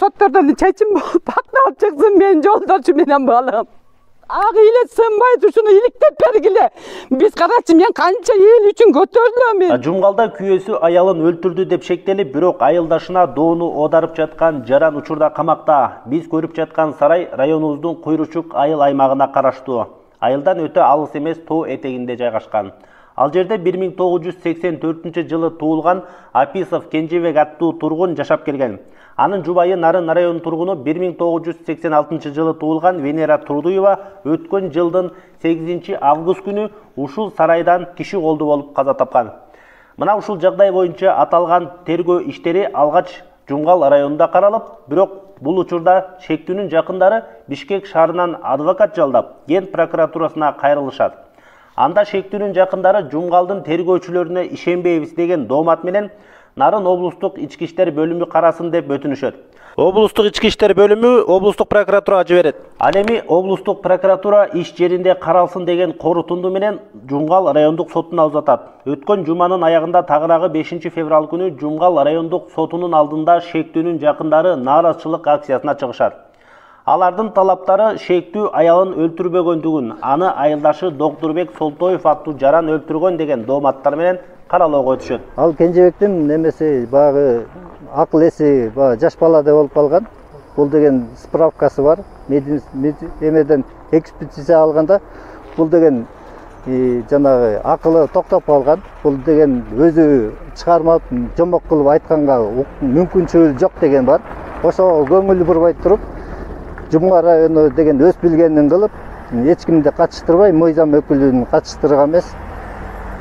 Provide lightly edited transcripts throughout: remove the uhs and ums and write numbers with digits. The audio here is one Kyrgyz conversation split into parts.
соттордон чечим пакталып чыксын менин жолдошум менен балам. Ак эле сынбайт, ушуну иликтеп бергиле. Биз карачы, мен канча эл үчүн көтөрүлөм. Жумгалда күйөөсү аялын өлтүрдү деп шектелип, бирок айылдашына доону оодарып жаткан жаран учурда камакта. Биз көрүп жаткан сарай районубуздун Куйручук айыл аймагына караштуу. Айылдан өтө алыс эмес тоо этегинде жайгашкан. Ал жерде 1984 жылы туулган Аписов Кенжебек аттуу тургун жашап келген. Анын жубайы Нарын районунун тургуну 1986 жылы туулган Венера Турдуева өткөн жылдын 8 август күнү ушул сарайдан киши колду болуп каза тапкан. Мына ушул жагдай боюнча аталган тергөө иштери алгач Жумгал районунда каралып, бирок бул учурда шектүүнүн жакындары Бишкек шаарынан адвокат жалдап, Ген прокуратурасына кайрылышат. Анда шектүүнүн жакындары Жумгалдын тергөөчүлөрүнө ишенбейбиз деген доомат менен Нарын облустук ички иштер бөлүмү карасын деп өтүнүшөт. Облустук ички иштер бөлүмү облустук прокуратурага жиберет. Ал эми облустук прокуратура иш жеринде каралсын деген корутунду менен Жумгал райондук сотуна узатат. Өткөн жуманын аягында тагыраагы 5 февраль күнү Жумгал райондук сотунун алдында шектүүнүн жакындары нааразычылык акциясына чыгышат. Алардын талаптары шектүү аялын өлтүрбөгөндүгүн, аны айылдашы Доктурбек Солтоев аттуу жаран өлтүргөн деген дооматтар менен каралоого өтүшөт. Ал Кенжебектин немеси багы акыл эси жаш баладай болуп калган. Бул деген справкасы бар. Эмеден экспертиза алганда бул деген жанагы акылы токтоп калган. Бул деген өзү чыгармап, жомок кылып айтканга мүмкүнчүлүгү жок деген бар. Ошого көңүл бурбай туруп, Жумгал району деген өз билгенин кылып, эч кимди катыштырбай, мыйзам өкүлүн катыштырган эмес.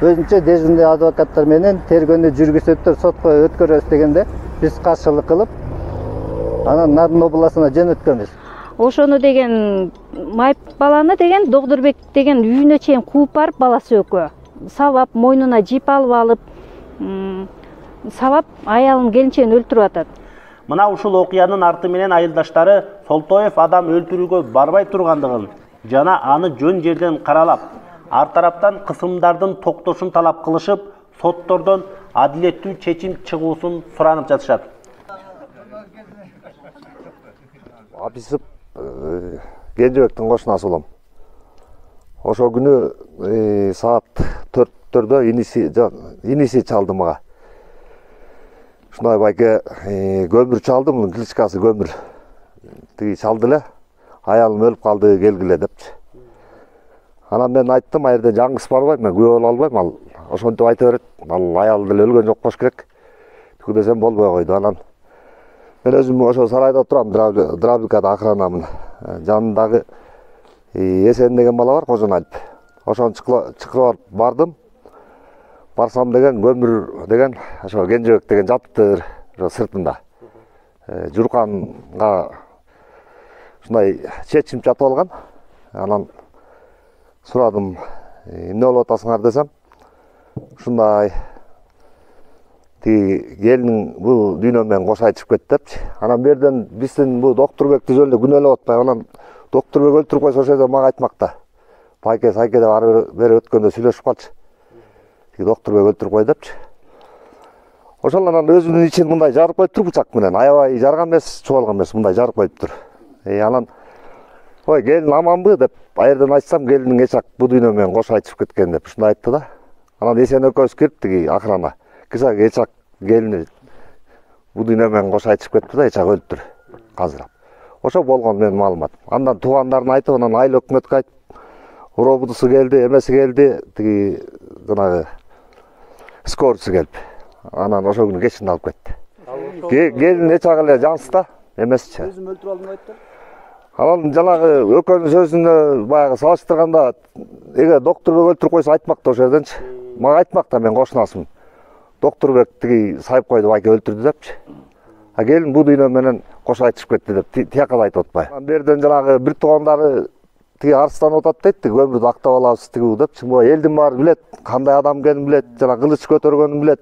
Өзүнчө дежурный адвокаттар менен тергөөнү жүргүзөттөр, сотко өткөрөбүз дегенде биз каршылык кылып, анан Нарын областына жөнөткөнбүз. Ошону деген майып баланы деген Доктурбек деген үйүнө чейин кууп барып, баласы экөө сабап, мойнуна жип алып, сабап аялын келинчегин өлтүрүп атат. Мына ушул окуянын арты менен айылдаштары Солтоев адам өлтүрүүгө барбай тургандыгын жана аны жөн жерден каралап, ар тараптан кысымдардын токтошун талап кылышып, соттордон адилеттүү чечим чыгуусун суранып жатышат. Аписов Кенжебектин кошунасы болом. Ошол күнү саат 4-төрдө иниси чалды мага. Ушундай байке көмүр чалды, мунун кличкасы көмүр. Тиги чалды эле, аялым өлүп калды, келгиле депчи. Анан мен айттым, а жерде жаңгыс барбайм, мен күбө боло албайм, ал ошентип айта берет. Ал аял деле өлгөн жок болуш керек. Тиги десем болбой койду. Анан мен өзүм ошо сарайда турам, Драбикада охранамын. Жанындагы Эсен деген бала бар, Кожоналип. Ошону чакырып бардым. Барсам деген көмүр деген ошо Кенжебек деген жатыптыр ошо сыртында. Журканга ушундай чечим жатып алган. Анан сурадым, эмне болуп атасыңар десем, ушундай тиги келиниң бул дүйнө менен кош айтышып кетти депчи. Анан берден биздин бул Доктурбекти жөн эле күнөөлөп атпай, анан Доктурбек өлтүрүп койсо ошол жерде мага айтмакта. Байке сайке деп ары бери өткөндө сүйлөшүп калчы. Тиги Доктурбек өлтүрүп кой депчи. Ошол анан өзүнүн ичин мындай жарып коюптур бычак менен. Аябай жарган эмес, чубалган эмес, мындай жарып коюптур. Анан ой, келин аманбы деп айерден айтсам, келиниң эчак бу дүйнө менен кош айтышып кеткен деп ушундай айтты да. Анан Эсен экөөбүз кирип тиги охрана. Кызак эчак келини бу дүйнө менен кош айтышып кетти да, эчак өлүптүр казыр. Ошо болгон менин маалымат. Андан туугандарына айтып, анан айыл өкмөткө айтып, уробудусу келди, эмеси келди, тиги жанагы скоросу келип. Анан ошол күнү кечинде алып кетти. Келин эчак эле жансызда, эмесчи. Өзүм өлтүрүп алдым айтты. Анан жанагы экөөнүн сөзүнө баягы салыштырганда, эгер Доктурбек өлтүрүп койсо айтмакта ошол жерденчи. Мага айтмакта, мен кошунасым. Доктурбек тиги сайып койду, байке өлтүрдү депчи. А келин бу дүйнө менен кош айтышып кетти деп тияка да айтып атпай. Анан берден жанагы бир туугандары тиги арыстанып атат дейт, көмүрдү актап алабыз тиги депчи. Бул элдин баары билет, кандай адам экенин билет, жана кылыч көтөргөнүн билет.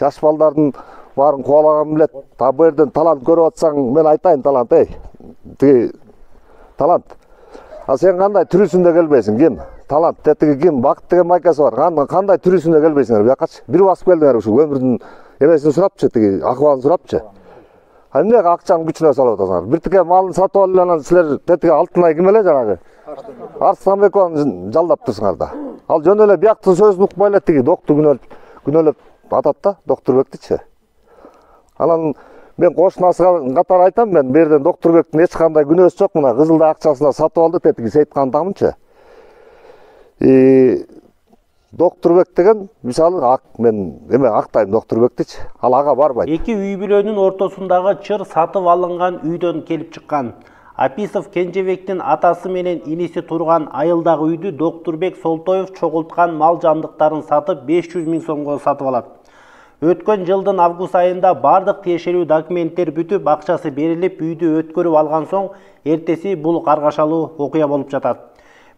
Жаш балдардын баарын кубалаганын билет. Та бу жерден талант көрүп атсаң, мен айтайын талант, тиги талант. А сен кандай түрүсүндө келбейсиң, ким? Талант, тиги ким? Бакыт деген майкасы бар. Кандай түрүсүндө келбейсиңер, бuyакачы. Бир басып келдиңер ушул көмүрдүн эмесин сурапчы, тиги акыбалын сурапчы. Эмне акчаны күчүнө салып атасыңар? Бир тике малын сатып алып анан силер тетиге алтынай ким эле жанагы? Арыстанбекованы жалдаптырсыңар да. Ал жөн эле бияктын сөзүн укпай эле тиги доктор күнөөлөп атат да, Докторбектичи. Анан мен кошунасыга катары айтам, мен берден Докторбектин эч кандай күнөөсү жок, мына Кызылда акчасына сатып алды тетиги Сейиткандамынчы. Докторбек деген мисалы мен эме актайм Докторбектичи, ал ага барбайт. Эки үй бүлөнүн ортосундагы чыр сатып алынган үйдөн келип чыккан. Аписов Кенжебектин атасы менен иниси турган айылдагы үйдү Докторбек Солтоев чогулткан мал жандыктарын сатып 500 000 сомго сатып алат. Өткөн жылдын август айында бардык тиешелүү документтер бүтүп, акчасы берилип, үйдү өткөрүп алган соң, эртеси бул каргашалуу окуя болуп жатат.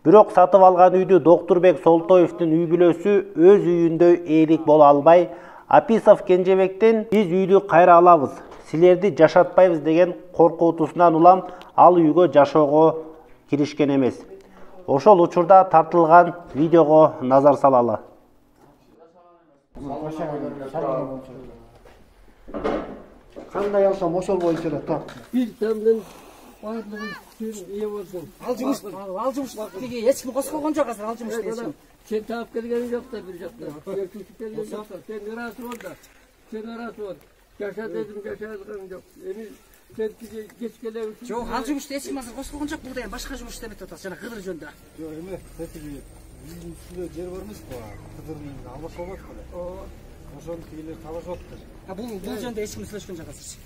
Бирок сатып алган үйдү Докторбек Солтоевдин үй бүлөсү өз үйүндө ээлик боло албай, Аписов Кенжебектен биз үйдү кайра алабыз, силерди жашатпайбыз деген коркутуусунан улам ал үйгө жашоого киришкен эмес. Ошол учурда тартылган видеого назар салалы. Кандай алсам ошол боюнча эле тарт. Бир тамдан баардыгы ие болсун. Ал жумуш тиги эч ким кошкон жок азыр ал жумушты эч ким. Сен таап келген жок да бир жакта. Келген жок. Сен ырасы бол да. Сен ырасы бол. Жаша дедим, жашадыгым жок. Эми сен тиги кечкеле үчүн. Жок, ал жумушты эч ким азыр кошкон жок. Бурда башка жумуш иштемек атат. Жана Кыдыр жөнүндө. Жок, эме тетиги үйдүн үстүндө жер бар эмеспи? Кыдырдын алмаш болот беле. Ошону тигилер талашып атты. Бул жөнүндө эч ким сүйлөшкөн жок азыр.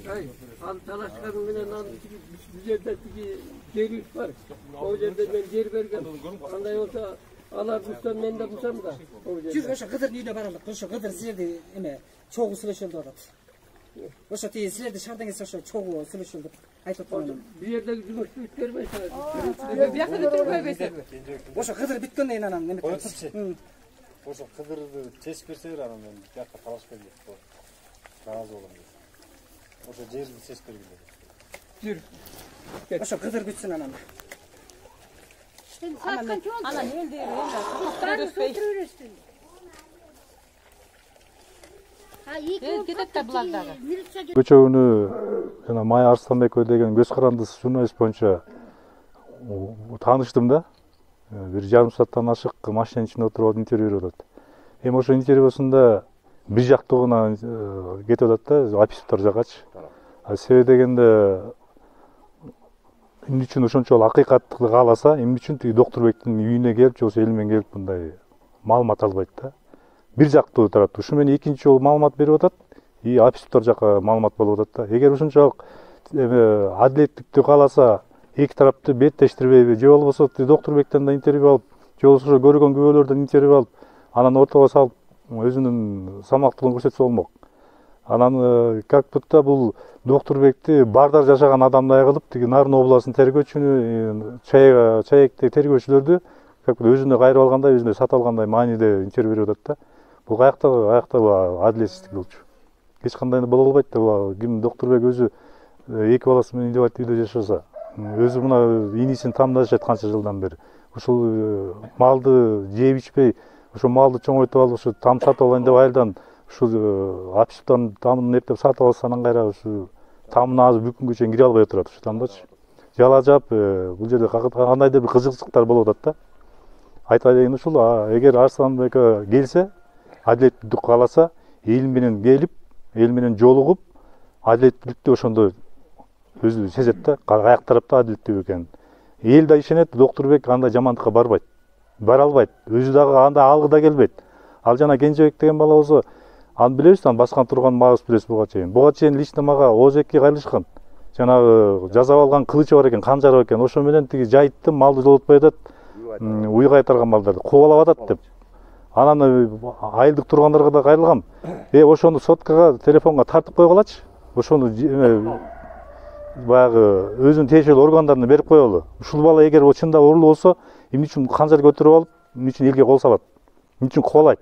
Ал талашкан менен ал бул жерде тиги жерибиз бар. Ол жерде мен жер бергем. Кандай болсо алар бустан мен да бусам да. Жүр, ошо Кыдырдын үйүнө баралык. Ошо Кыдыр силерди эме чогуу сүйлөшөлдү атат. Ошо тиги силерди шаардан келсе ошо чогуу сүйлөшөлдү айтып аткан. Бул жердеги жумушту бүткөрбөйсү. Биякта бүтүрбөйбөйсү. Ошо Кыдыр бүткөндөн кийин анан эме Коётурчу. Ошо Кыдырды чечип берсеңер анан мен биякка талашып келдик. Разы болом дейт. Ошо жерди чечип бергиле. Жүр. ошо Кыдыр бүтсүн анан. Анан элди Көчөгүнү жана Майя Арсланбекова деген көз карандысыз журналист боюнча тааныштым да. 1,5 сааттан ашык машинанын ичинде отуруп алып интервью берип атат. Эми ошо интервьюсунда бир жактыгына кетип атат да, Аписовдор жагачы. Себеби дегенде эмне үчүн ошончолук акыйкатты кааласа, эмне үчүн тиги Докторбектин үйүнө келип, же болбосо эл менен келип мындай маалымат албайт да. Бир жактуу турат. Ушу менен экинчи жолу маалымат берип атат, Аписовдор жака маалымат болуп атат да. Эгер ушунчалык адилеттикти кааласа, эки тарапты беттештирбейби, же болбосо Докторбектен да интервью алып, же болбосо көргөн күбөлөрдөн интервью алып, анан ортого салып өзүнүн салмактуулугун көрсөтсө болмок. Анан как будто бул Докторбекти бардар жашаган адамдай кылып, тиги Нарын областынын тергөөчүнү, чаекти тергөөчүлөрдү как будто өзүнө кайрып алгандай, өзүнө сатып алгандай мааниде интервью берип атат да. Бул каякта адилетсиздик болчу. Эч кандай боло албайт да. Ким Докторбек өзү эки баласы менен үйдө жашаса, өзү мына инисин тамдашат канча жылдан бери. Ушул малды жеп ичпей, ошо малды чоңойтуп алып, ушу там сатып алайын деп айылдан ушу Аписовдордун тамын эптеп сатып алса, анан кайра ушу тамына азыр бүт күнгө чейин кире албай турат ушу тамдачы. Жала жап, бул жерде кандайдыр бир кызыкчылыктар болуп атат да. Айта дегени ушул, эгер Арсланбекова келсе, адилеттүүлүк кааласа, эл менен келип, эл менен жолугуп, адилеттүүлүктү ошондо өзү сезет да, каяк тарапта адилеттүү экенин. Эл да ишенет, Докторбек андай жамандыкка барбайт. Бара албайт. Өзү дагы андай алгыда келбейт. Ал жана Кенжебек деген бала болсо, аны билебиз, аны баскан турган мабыз билебиз буга чейин. Буга чейин лично мага ОЖК кайрылышкан. Жанагы жазап алган кылычы бар экен, канжары бар экен. Ошо менен тиги жайттым, малды жолотпой атат, уй кайтарган малдарды кубалап атат деп. Анан айылдык тургандарга да кайрылгам. Ошону соткага, телефонго тартып койгулачы. Ошону баягы өзүнүн тиешелүү органдарына берип коелу. Ушул бала эгер чында урлуу болсо, эмне үчүн канжар көтөрүп алып, эмне үчүн элге кол салат? Эмне үчүн кубалайт?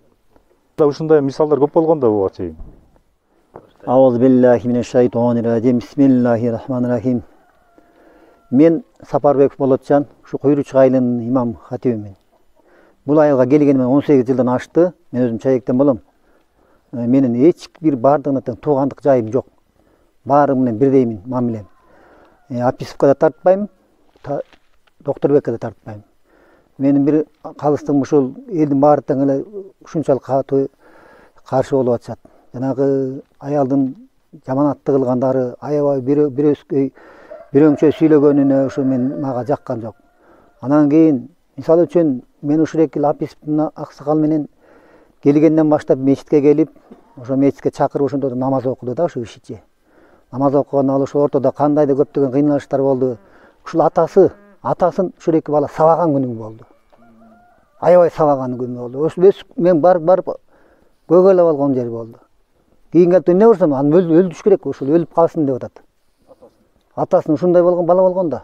Ушундай мисалдар көп болгон да буга чейин. Ауз биллахи минеш шайтонир раджим. Бисмиллахир-рахманир-рахим. Мен Сапарбеков Болотжан, ушу Куйручук айылынын имам хатибимин. Бул айылга келгениме 18 жылдан ашты. Мен өзүм чаектен болом. менен эч бир бардыгына тең туугандык жайым жок. Баары менен бирдеймин мамилем. Аписовка да тартпайм, Доктурбекке да тартпайм. Менин бир калыстыгым ушул элдин баары тең эле ушунчалык катуу каршы болуп атышат. Жанагы аялдын жаманаттык кылгандары, аябай бирөөңчө сүйлөгөнүнө ушу мага жаккан жок. Анан кийин мисалы үчүн мен ушул 2 жыл Аписовдун аксакалы менен келгенден баштап мечитке келип, ошо мечитке чакырып ошондо намаз окуду да ушу кишичи. Намаз окуган ал ошо ортодо кандайдыр көптөгөн кыйналыштар болду. Ушул атасын ушул 2 бала сабаган күнү болду. Аябай сабаган күнү болду. Мен барып көгөлөп алган жери болду. Кийин келип эмне көрсөм, аны өлтүрүш керек, ушул өлүп калсын деп атат. Атасын ушундай болгон бала болгон да.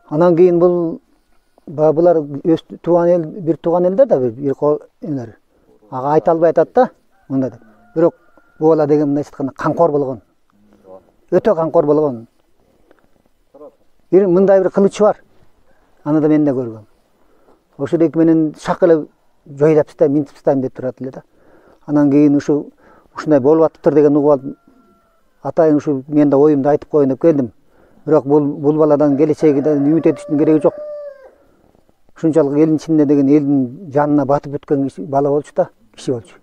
Анан кийин булар тууган эл, бир тууган элдер да бир элер. Ага айта албай атат да, мындай деп. Бирок бул бала деген мындай айтканда камкор болгон. Өтө камкор болгон. Мындай бир кылычы бар. Аны да мен да көргөм. Ошол 2 менен шак эле жойлап тастайм, минтип тастайм деп турат эле да. Анан кийин ушундай болуп атыптыр деген угуп алып, атайын ушу мен да оюмду айтып коеюн деп келдим. Бирок бул баладан келечегиден үмүт этиштин кереги жок. Ушунчалык элдин ичинде деген элдин жанына батып өткөн бала болчу да, киши болчу.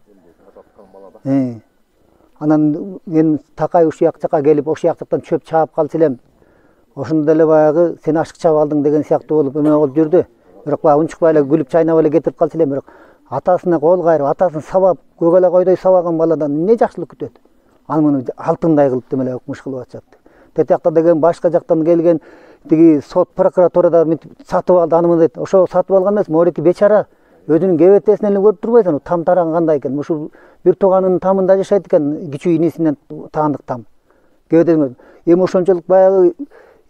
Анан мен такай ушул жакка келип, ошол жактан чөп чаап калчу элем. Ошондо эле баягы сен ашык чаап алдың деген сыяктуу болуп эме болуп жүрдү. Бирок баягы унчукпай эле күлүп чайнап эле кетирип калчу элем. Бирок атасына кол кайрып, атасын сабап, көгөлө койдой сабаган баладан эмне жакшылык күтөт? Аны муну алтындай кылып демеле өкмүш кылып атышат. Тетиякта деген башка жактан келген тиги сот прокуратурада сатып алды, аны дейт. Ошо сатып алган эмес, могу 2 бечара өзүнүн кебетесин эле көрүп турбайсың, там тараган кандай экен. Ушул бир тууганынын тамында жашайт экен, кичүү инесинен таандык там. Кебетесин эми ошончолук баягы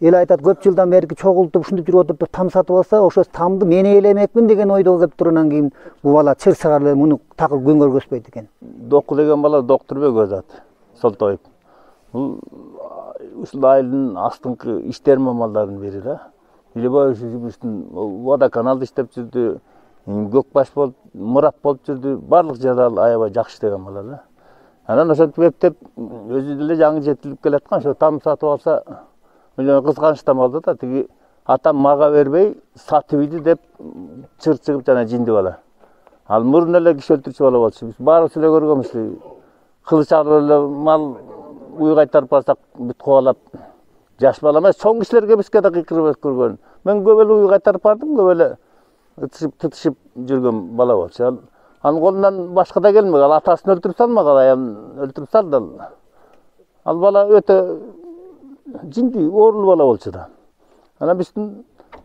эл айтат, көп жылдан берки чогултуп ушинтип жүрүп отуруп там сатып алса, ошо тамды мен ээлемекмин деген ойдо келип тургандан кийин бул бала чырсыгар эле муну такыр күн көргөзбөйт экен. Доку деген бала Доктурбек өзү аты, Солтоев. Бул ушул айылдын астыңкы иштер мамалдарынын бири да. Илебай ушу жумуштун водоканалды иштеп жүрдү, көкбаш болуп, мурап болуп жүрдү. Барлык жерде аябай жакшы иштеген бала да. Анан ошентип эптеп өзү деле жаңы жетилип келаткан, ошо там сатып алса кызганычтан болду да, тиги атам мага бербей сатып ийди деп чыр чыгып жана жинди бала. Ал мурун эле киши өлтүрчү бала болчу. Биз баарыбыз эле көргөнбүз. Кылыч алып эле мал уй кайтарып барсак бүт кубалап, жаш бала эмес, чоң кишилерге бизге да кыйкырып көргөн. Мен көп эле уй кайтарып бардым, көп эле тытышып жүргөн бала болчу. Анын колунан башка да келмек. Ал атасын өлтүрүп салмаган, аягын өлтүрүп салды. Ал бала өтө жинди, оорулуу бала болчу да.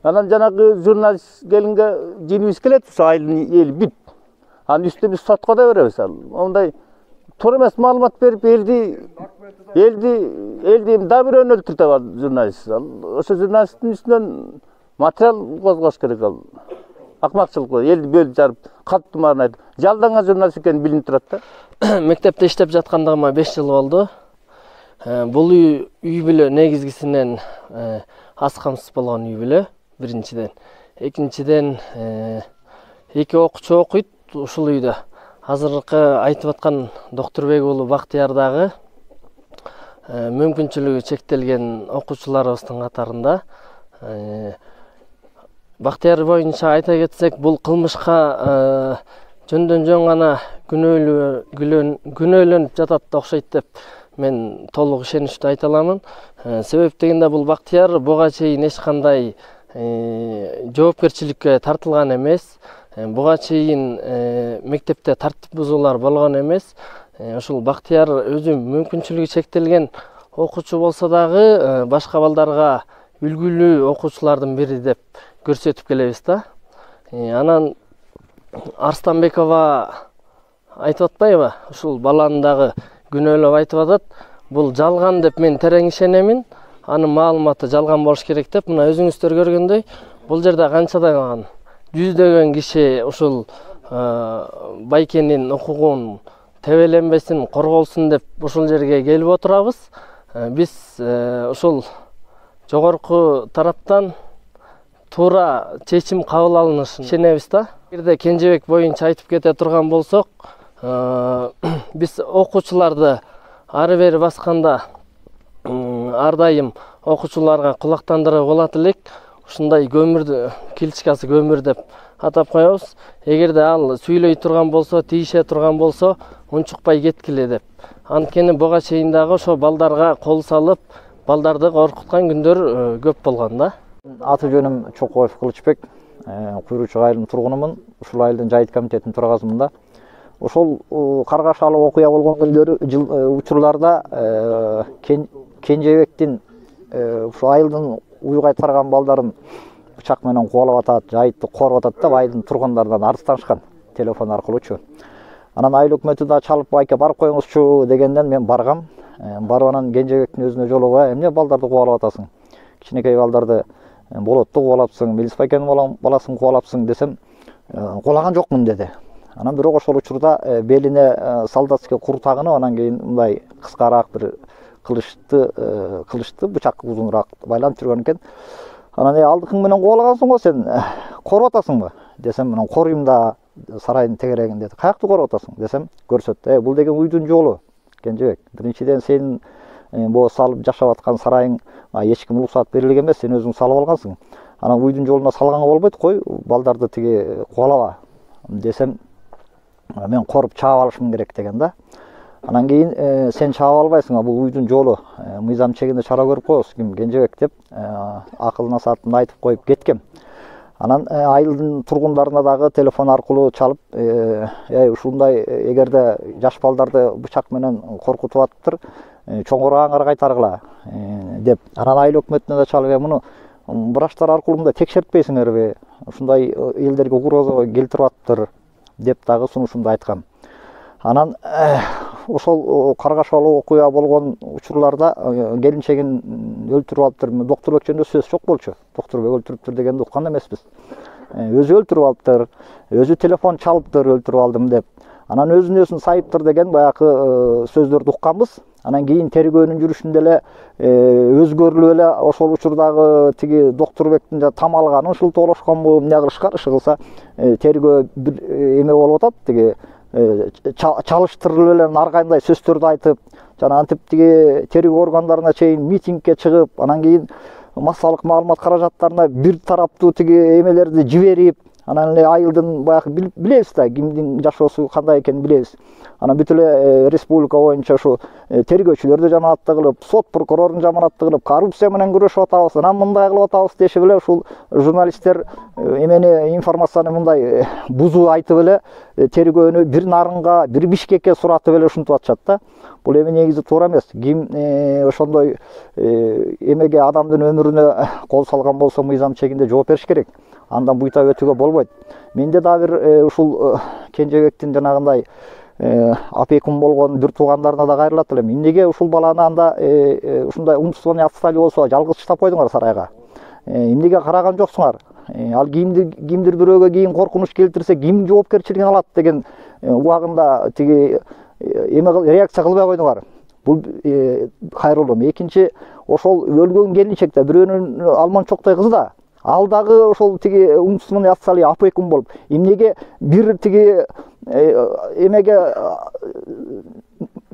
Анан жанагы журналист келинге жинибиз келет, ушу айылдын эли бүт. Анын үстүнө биз сотко да беребиз. Ондай туура эмес маалымат берип элди да бирөөнү өлтүртүп алат журналист. Ошо журналисттин үстүнөн материал козгош керек. Ал акмакчылык кылып, элди бөлүп жарып, калп тумарын айтып, жалданган журналист экени билинип турат да. Мектепте иштеп жаткандыгыма 5 жыл болду. Бул үй бүлө негизгисинен аз камсыз болгон үй бүлө, биринчиден. Экинчиден, 2 окуучу окуйт ушул үйдө. Азыркы айтып аткан Доктурбек уулу Бактыяр дагы мүмкүнчүлүгү чектелген окуучуларыбыздын катарында. Бактыяр боюнча айта кетсек, бул кылмышка жөндөн жөн гана күнөөлөнүп жатат окшойт деп мен толук ишеничтүү айта аламын. Себеп дегенде бул Бактыяр буга чейин эч кандай жоопкерчиликке тартылган эмес. Буга чейин мектепте тартип бузуулар болгон эмес. Ушул Бактыяр өзү мүмкүнчүлүгү чектелген окуучу болсо дагы башка балдарга үлгүлүү окуучулардын бири деп көрсөтүп келебиз да. Анан Арстанбекова айтып атпайбы? Ушул баланы дагы күнөөлөп айтып атат. Бул жалган деп мен терең ишенемин. Анын маалыматы жалган болуш керек деп, мына өзүңүздөр көргөндөй, бул жерде канчадан жүздөгөн киши ушул байкенин укугун тебеленбесин, корголсун деп ушул жерге келип отурабыз. Биз ушул жогорку тараптан туура чечим кабыл алынышын ишенебиз да. Эгерде Кенжебек боюнча айтып кете турган болсок, Биз окуучуларды ары бери басканда ар дайым окуучуларга кулактандырып болот элек. Ушундай көмүрдү килчкасы көмүр деп атап коебуз. Эгерде ал сүйлөй турган болсо, тийише турган болсо, унчукпай кеткиле деп. Анткени буга чейин дагы ошо балдарга кол салып, балдарды коркуткан күндөр көп болгон да. Аты жөнүм Чокоев Кылычбек, Куйручук айылынын тургунумун. Ушул айылдын жайыт комитетинин төрагасымын да. Ошол каргашалуу окуя болгон күндөрү учурларда Кенжебектин ушу айылдын уйгай тарган балдарын бычак менен кубалап атат, жайытты кооруп атат деп айылдын тургундарынан арызданышкан телефон аркылуучу. Анан айыл өкмөтү да чалып байке барып коюңузчу дегенден мен баргам. Барып анан Кенжебектин өзүнө жолугуп, эмне балдарды кубалап атасың? Кичинекей балдарды болотту кубалапсың, Мелис байкенин баласын кубалапсың десем, кубалаган жокмун деди. Анан бирок ошол учурда белине солдатский кур тагынып, анан кийин мындай кыскараак бир кылычты бычак узунураак байланып жүргөн экен. Анан алдыкың менен кубалагансың го сен, кооруп атасыңбы десем, анан коруйм да сарайдын тегерегин деди. Каякты кооруп атасың десем, көрсөттү. Бул деген уйдун жолу Кенжебек. Биринчиден сенин бу салып жашап аткан сарайың эч ким уруксат берилген эмес, сен өзүң салып алгансың. Анан уйдун жолуна салганга болбойт, кой балдарды тиги кубалаба десем, мен коруп чаап алышым керек деген да. Анан кийин сен чаап албайсың, бул уйдун жолу, мыйзам чегинде чара көрүп коебуз, ким Кенжебек деп акыл насаатымды айтып коюп кеткем. Анан айылдын тургундарына дагы телефон аркылуу чалып, ушундай эгерде жаш балдарды бычак менен коркутуп атыптыр, чоңураак аңгар кайтаргыла деп. Анан айыл өкмөтүнө да чалып, муну врачтар аркылуу мындай текшертпейсиңерби? Ушундай элдерге угроза келтирип атыптыр деп дагы сунушумду айткам. Анан ошол каргашалуу окуя болгон учурларда келинчегин өлтүрүп алыптыр. Доктурбек жөнүндө сөз жок болчу. Доктурбек өлтүрүптүр дегенди уккан эмеспиз. Өзү өлтүрүп алыптыр, өзү телефон чалыптыр, өлтүрүп алдым деп. Анан өзүн сайыптыр деген баягы сөздөрдү укканбыз. Анан кийин тергөөнүн жүрүшүндө эле өзгөрүлүп эле ошол учурдагы тиги Доктурбектин там алганын шылтоолошконбу, эмне кылышкан, иши кылса тергөө эме болуп атат, тиги чалыштырылып эле ар кандай сөздөрдү айтып, жана антип тиги тергөө органдарына чейин митингге чыгып, анан кийин массалык маалымат каражаттарына бир тараптуу тиги эмелерди жиберип, анан эле айылдын баягы билебиз да, кимдин жашоосу кандай экенин билебиз. Анан бүт эле республика боюнча ушу тергөөчүлөрдү жаманатты кылып, сот прокурорун жаманатты кылып, коррупция менен күрөшүп атабыз, анан мындай кылып атабыз дешип эле ушул журналисттер эмени информацияны мындай бузуу айтып эле тергөөнү бир Нарынга, бир Бишкекке суратып эле ушинтип атышат да. Бул эми негизи туура эмес. Ким ошондой эмеге адамдын өмүрүнө кол салган болсо мыйзам чегинде жооп бериш керек. Андан буйта өтүүгө болбойт. Менде да бир ушул Кенжебектин жанагындай опекун болгон бир туугандарына да кайрылат элем. Эмнеге ушул баланы анда ушундай умствованный отстали болсо жалгыз таштап койдуңар сарайга? Эмнеге караган жоксуңар? Ал кимдир бирөөгө кийин коркунуч келтирсе ким жоопкерчилигин алат деген убагында тиги реакция кылбай койдуңар. Бул кайрылуу. Экинчи, ошол өлгөн келинчек да бирөөнүн алманчоктой кызы да. Ал дагы ошол тиги умственный отсталый опекун болуп, эмнеге бир тиги эмеге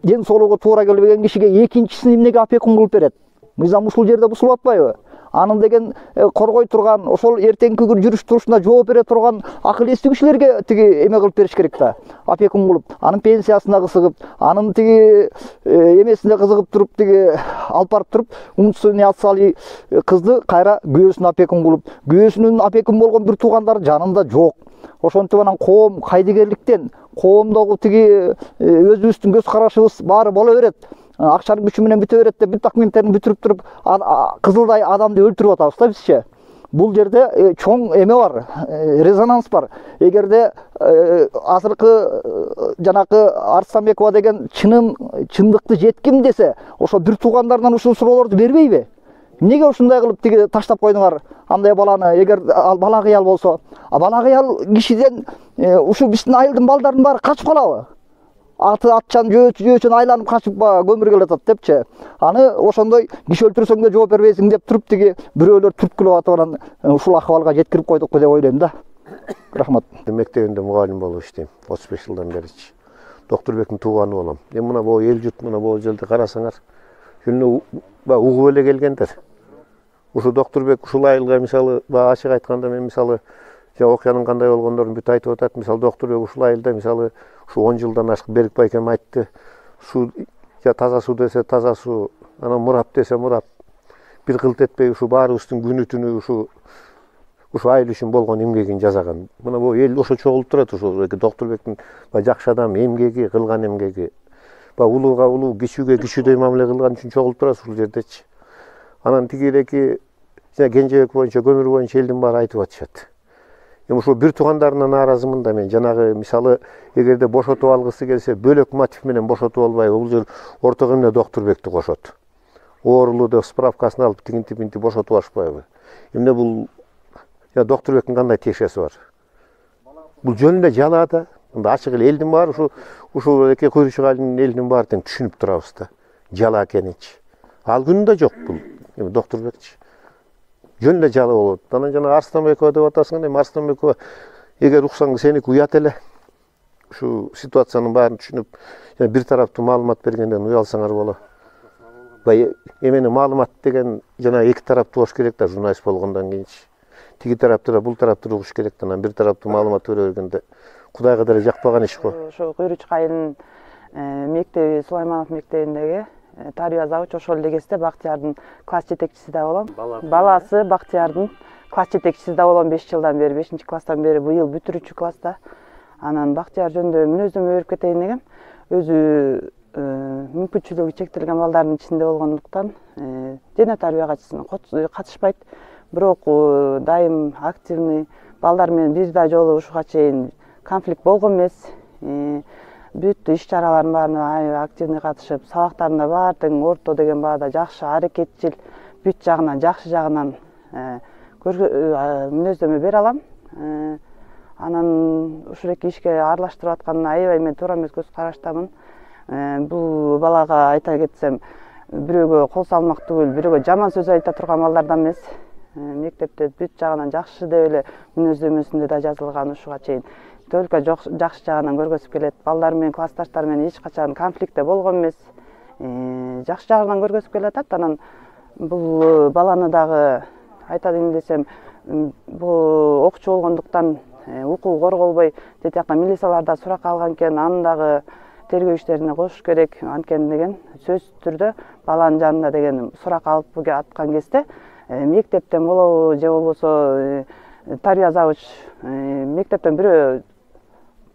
ден соолугу туура келбеген кишиге экинчисин эмнеге опекун кылып берет? Мыйзам ушул жерде бузулуп атпайбы? Анын деген коргой турган, ошол эртеңки күн жүрүш турушуна жооп бере турган акыл эстүү кишилерге тиги эме кылып бериш керек да. Опекун кылып, анын пенсиясына кызыгып, анын тиги эмесине кызыгып туруп тиги алып барып туруп, умственный отсталый кызды кайра күйөөсүнө опекун кылып, күйөөсүнүн опекун болгон бир туугандары жанында жок. Ошентип анан коом кайдыгерликтен, коомдогу тиги өзүбүздүн көз карашыбыз баары боло берет. Акчанын күчү менен бүтө берет деп бүт документтерин бүтүрүп туруп, кызылдай адамды өлтүрүп атабыз да бизче. Бул жерде чоң эме бар, резонанс бар. Эгерде азыркы жанакы Арыстанбекова деген чындыкты жетким десе, ошо бир туугандарынан ушул суроолорду бербейби? Эмнеге ушундай кылып тиги таштап койдуңар андай баланы? Эгер ал бала кыял болсо, бала кыял кишиден ушу биздин айылдын балдарынын баары качып калабы? Атчан жөөчөн айланып качып көмүр келатат депчи. Аны ошондой киши өлтүрсөң да жооп бербейсиң деп туруп тиги бирөөлөр түрткүлөп атып анан ушул акыбалга жеткирип койдукпу деп ойлойм да. Рахмат. Мектебинде мугалим болуп иштейм 35 жылдан беричи. Доктурбектин тууганы болом. Эми мына бул эл журт мына бул жерде карасаңар, жүнү угуп эле келгендер. Ушу Доктурбек ушул айылга мисалы ачык айтканда мен мисалы окуянын кандай болгондорун бүт айтып атат. Мисалы Доктурбек ушул айылда мисалы ушу 10 жылдан ашык Берик байкем айтты. Суу таза суу десе таза суу, анан мурап десе мурап. Бир кылт этпей ушу баарыбыздын күнү түнү ушу айыл үчүн болгон эмгегин жасаган. Мына бул эл ошо чогулуп турат, ошо Доктурбектин жакшы адам эмгеги, кылган эмгеги. Улууга улуу, кичүүгө кичүүдөй мамиле кылган үчүн чогулуп турат ушул жердечи. Анан тигиреки Кенжебек боюнча, көмүр боюнча элдин баары айтып атышат. Эми ушул бир туугандарына нааразымын да мен. Жанагы мисалы эгерде бошотуп алгысы келсе, бөлөк мотив менен бошотуп албайбы? Бул жер ортого эмне Доктурбекти кошот. Оорулуу деп справкасын алып тигинтип интип бошотуп алышпайбы? Эмне бул Доктурбектин кандай тиешеси бар? Бул жөн эле жала да. Ачык эле элдин баары ушул эки куйручук айылдын элинин баары тең түшүнүп турабыз да. Жала экенинчи. Ал күнү да жок бул. Эми Доктурбекчи. Жөн эле жала болот. Анан жана Арстанбекова деп атасың, эми Арстанбекова эгер уксаң сеники уят эле. Ушу ситуациянын баарын түшүнүп, бир тараптуу маалымат бергенден уялсаңар болот. Эмени маалымат деген жана эки тараптуу болуш керек да, журналист болгондон кийинчи. Тиги тарапты да бул тарапты угуш керек да, анан бир тараптуу маалымат бере бергенде Кудайга деле жакпаган иш го. Ошо Куйручук айылынын мектеби, Сулайманов мектебиндеги тарбия завучу ошол эле кезде Бактиярдын класс жетекчиси да болом. Баласы Бактиярдын класс жетекчиси да болом 5 жылдан бери, 5-класстан бери, быйыл бүтүрүүчү класста. Анан Бактияр жөнүндө мүнөздөмө берип кетейин дегем. Өзү мүмкүнчүлүгү чектелген балдардын ичинде болгондуктан дене тарбия катчысына катышпайт. Бирок дайым активный балдар менен бир да жолу ушуга чейин конфликт болгон эмес. Бүт иш-чаралардын баарына активный катышып, сабактарында баары тең орто деген баада жакшы, аракетчил, бүт жагынан, жакшы жагынан мүнөздөмө бере алам. Анан ушул эки ишке аралаштырып атканына аябай мен туура эмес көз караштамын. Бул балага айта кетсем, бирөөгө кол салмак түгүл, бирөөгө жаман сөз айта турган балдардан эмес. Мектепте бүт жагынан жакшы деп эле мүнөздөмөсүндө да жазылган ушуга чейин. Только жакшы жагынан көргөзүп келет. Балдар менен, классташтар менен эч качан конфликтте болгон эмес. Жакшы жагынан көргөзүп келатат. Анан бул баланы дагы айтайын десем, бул окуучу болгондуктан укугу корголбой, тет жакта милицияларда суракка алган экен, анын дагы тергөө иштерине кошуш керек анткени деген сөзсүз түрдө баланын жанында деген сурак алып аткан кезде мектептен болобу же болбосо тарбия завуч мектептен бирөө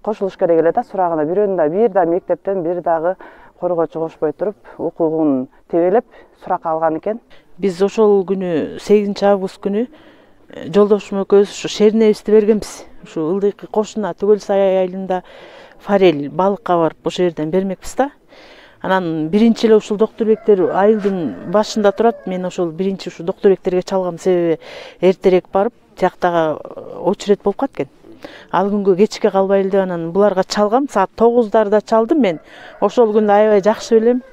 кошулуш керек эле да сурагына. Бир да мектептен бир дагы коргоочу кошпой туруп укугун тебелеп сурак алган экен. Биз ошол күнү 8-август күнү жолдошум экөөбүз ушу шернебизди бергенбиз. Ушу ылдыйкы кошуна Түгөл сай айылында форель балыкка барып ошол жерден бермекпиз да. Анан биринчи эле ушул Доктурбектер айылдын башында турат. Мен ошол биринчи ушу Доктурбектерге чалгам себеби эртерээк барып, тияктагы очередь болуп калат экен. Ал күнгө кечке калбайлы деп анан буларга чалгам. Саат 9:00 чалдым мен. Ошол күндү аябай жакшы билем.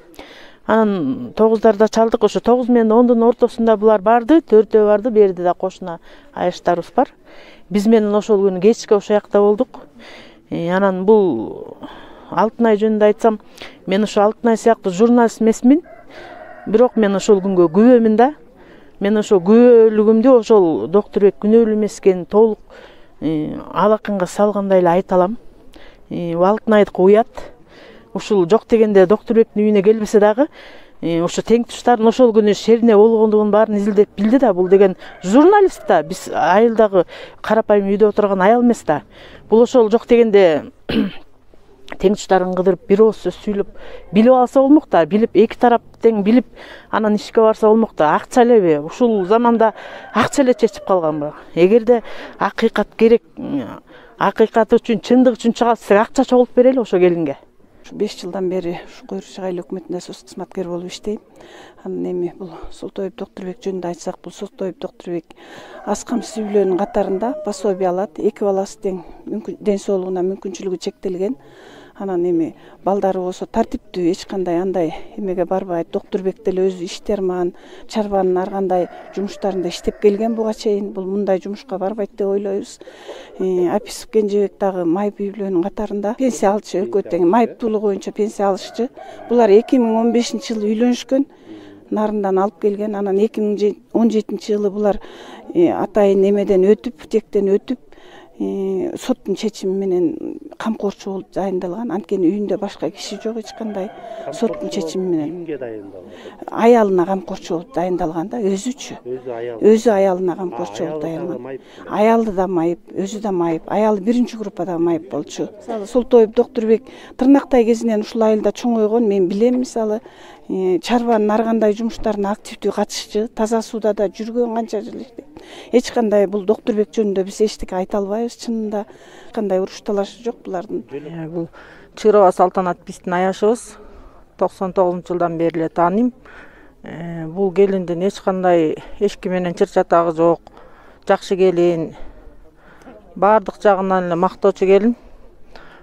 Анан 9:00 чалдык. Ошо 9 менен 10-дун ортосунда булар барды, төртөө барды. Берде да кошуна айыштарыбыз бар. Биз менен ошол күнү кечке ошол жакта болдук. Анан бул Алтынай жөнүндө айтсам, мен ошо Алтынай сыяктуу журналист эмесмин. Бирок мен ошол күнгө күбөмүн да. Мен ошо күбөлүгүмдү ошол Доктурбек күнөөлүү эмес экенин толук алакынга салгандай эле айта алам. Алтынайдыкы уят. Ушул жок дегенде Доктурбектин үйүнө келбесе дагы, ошо тең туштардын ошол күнү шерине болгондугун баарын изилдеп билди да. Бул деген журналист да, биз айылдагы карапайым үйдө отурган аял эмес да. Бул ошол жок дегенде тең туштарын кыдырып бир ооз сөз сүйлөп билип алса болмок да. Билип эки тарап тең билип анан ишке барса болмок да. Акча элеби? Ушул заманда акча эле чечип калганбы? Эгерде акыйкат керек, акыйкаты үчүн, чындык үчүн чыга алсак, акча чогултуп берели ошо келинге. 5 жылдан бери ушу Куйручук айыл өкмөтүндө соц кызматкер болуп иштейм. Анан эми бул Солтоев Доктурбек жөнүндө айтсак, бул Солтоев Доктурбек аз камсыз үй-бүлөнүн катарында пособие алат. 2 баласы тең ден соолугуна мүмкүнчүлүгү чектелген. Анан эми балдары болсо тартиптүү, эч кандай андай эмеге барбайт. Доктурбек деле өзү иштерман, чарбанын ар кандай жумуштарында иштеп келген буга чейин. Бул мындай жумушка барбайт деп ойлойбуз. Аписов Кенжебек дагы майып үй бүлөнүн катарында пенсия алчу, экөө тең майыптуулугу боюнча пенсия алышчу. Булар 2015-жылы үйлөнүшкөн. Нарындан алып келген. Анан 2017-жылы булар атайын эмеден өтүп, тектен өтүп, соттун чечими менен камкорчу болуп дайындалган. Анткени үйүндө башка киши жок, эч кандай соттун чечими менен. Кимге дайындалган? Аялына камкорчу болуп дайындалган да, өзүчү. Өзү аялына камкорчу болуп дайындалган. Аялы да майып, өзү да майып. Аялы 1-группада майып болчу. Мисалы Солтоев Доктурбек тырнактай кезинен ушул айылда чоңойгон, мен билем. Мисалы чарбанын ар кандай жумуштарына активдүү катышчу, таза сууда да жүргөн канча жыл иштеп. Эч кандай бул Доктурбек жөнүндө биз эчтеке айта албайбыз. Чынында кандай уруш талашы жок булардын. Бул Чырова Салтанат биздин аяшыбыз. 99-жылдан бери эле тааныйм. Бул келиндин эч кандай эчки менен чыр чатагы жок. Жакшы келин. Бардык жагынан эле мактоочу келин.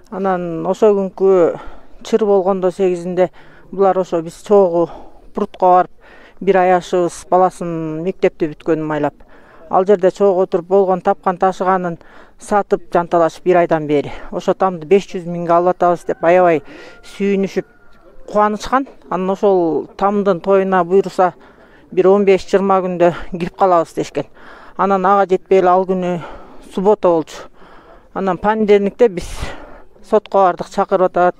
Анан ошо күнкү чыр болгондо 8-inde булар ошо биз чогуу Прутко барып, бир аяшыбыз баласын мектепти бүткөнүн майлап, ал жерде чогуу отуруп болгон тапкан ташыганын сатып жанталашып 1 айдан бери. Ошо тамды 500 миңге алып атабыз деп аябай сүйүнүшүп кубанышкан. Анан ошол тамдын тоюна буйруса бир 15-20 күндө кирип калабыз дешкен. Анан ага жетпей эле ал күнү суббота болчу. Анан понедельникте биз сотко бардык, чакырып атат,